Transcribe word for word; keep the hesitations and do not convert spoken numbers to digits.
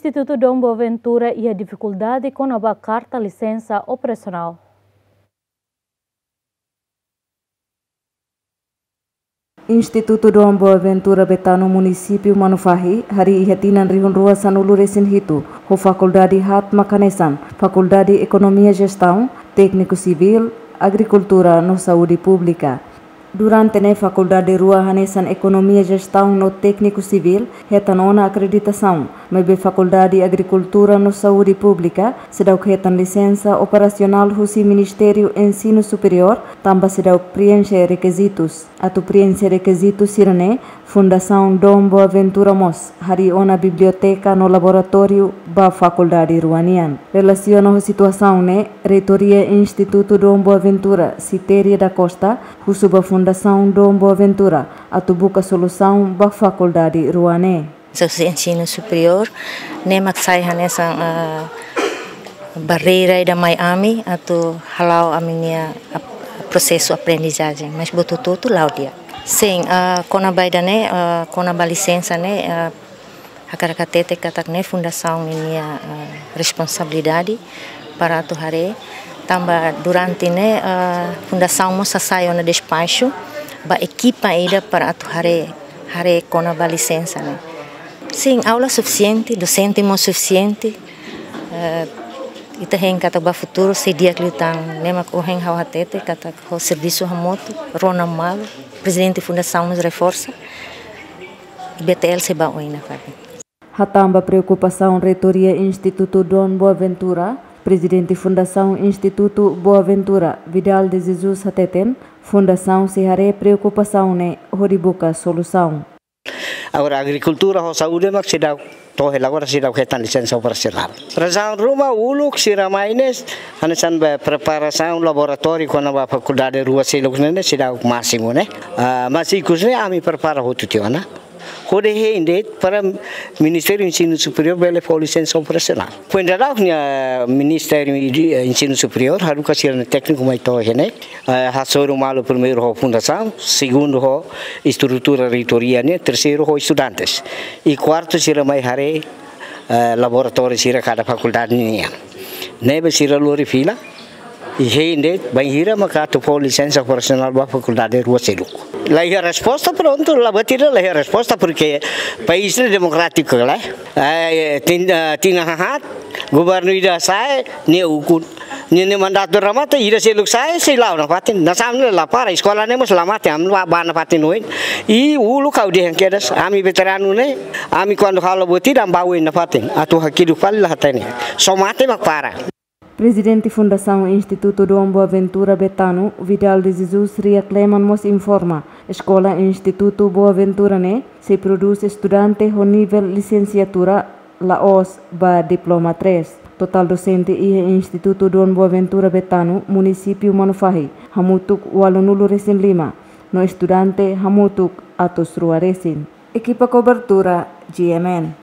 Institutu Dom Boaventura iha difikuldade kona-ba karta lisensa operasionál. Institutu Dom Boaventura Betano, Munisípiu Manufahi, harii iha tinan rihun rua sanulu resin hitu ho fakuldade haat mak hanesan Fakuldade Ekonomia Jestaun, Tékniku Sivíl, Agrikultura no Saúde Públika. Durante ne'e fakuldade rua hanesan Ekonomia Jestaun no Tékniku Sivíl hetan ona akreditasaun, maibé Fakuldade Agrikultura no Saúde Públika seidauk hetan lisensa operasionál husi Ministériu Ensinu Superiór tanba seidauk prienxe rekizitus. Atu prienxe rekizitu sira-ne'e, Fundasaun Dom Boaventura mós harii ona biblioteka no laboratóriu ba fakuldade rua nian. Relasiona ho situasaun ne'e, Reitoria Institutu Dom Boaventura, Citéria da Costa, husu ba Fundasaun Dom Boaventura atu buka solusaun ba fakuldade rua ne'e. Sosiedade ensinu superiór ne'e mak sai hanesan, ah, barreira ida mai ami atu hala'o ami-nia ap-, prosesu aprendizajen, mas buat hotu-hotu la'o di'ak. Sin, ah, kona-ba ida-ne'e, ah, kona-ba lisensa ne'e, ah, hakarak hatete katak ne'e fundasaun ninia, ah, responsabilidade para atu haree, tanba durante ne'e, ah, fundasaun mós hasai ona despaxu ba ekipa ida para atu haree, haree kona-ba lisensa ne'e. Sin, aula sufisiente, dosente mós sufisiente. Eh, ita hein katak ba futuru sei di'ak liután, ne'e mak ohin ha'u hatete katak ho servisu hamutuk, rona malu, prezidente fundasaun mós reforsa, I B T L sei ba oin nafatin. Hatán ba preokupasaun Reitoria Institutu Dom Boaventura, Prezidente Fundasaun Institutu Boaventura, Vidal de Jesus hateten, fundasaun sei haree preokupasaun ne'e hodi buka solusaun. Agora agrikultura ho saúde mak seidauk to'o hela agora seidauk hetan lisensa operasionál. Razaun ruma uluk sira mai ne'e, hanesan be preparasaun laboratóriu kona-ba fakuldade rua seluk ne'e, ne'e seidauk másimu ne'e. Ah, mas ikus ne'e ami prepara hotu tiha ona. Hodi hein de'it para Ministériu Ensinu Superiór bele fó lisensa operasionál. Foin daudauk ne'e, ah, Ministériu de, eh, Ensinu Superiór haruka sira-nia tékniku mai to'o iha ne'e. Eh, hasoru malu primeiru ho fundasaun, segundu ho estrutura reitoria nian, terseiru ho estudantes. I kuartu sira mai haree, eh, laboratóriu sira kada fakuldade nian. Ne'ebé sira lori fila, i hein de'it bainhira maka atu fó lisensa operasionál ba fakuldade rua seluk. La iha resposta, prontu, la buat ida la iha resposta, porque país ne'e demokrátiku, la. Eh, tin-, eh, tinan haat, governu ida sa'e, nia ukun. Nia, nia mandatu remata, ida seluk sa'e, sei la'o nafatin. Nasaun ne'e la para, eskola ne'e mós la mate, ami ba, ba nafatin oin. I uluk ha'u dehan kedas, ami veteranu ne'e, ami kuandu halo buat ida, ami ba oin nafatin. Atu hakiduk fali la hatene. Só mate mak para. Prezidente Fundasaun Institutu Dom Boaventura Betano, Vidal de Jesus Riak Leman mós informa, eskola Institutu Boaventura ne'e sei prodús estudante ho nivel lisensiatura la'ós ba diploma três. Totál dosente iha Institutu Dom Boaventura Betano, Munisípiu Manufahi, hamutuk ualunulu resin lima, no estudante hamutuk atus rua resin. Ekipa kobertura, G M N.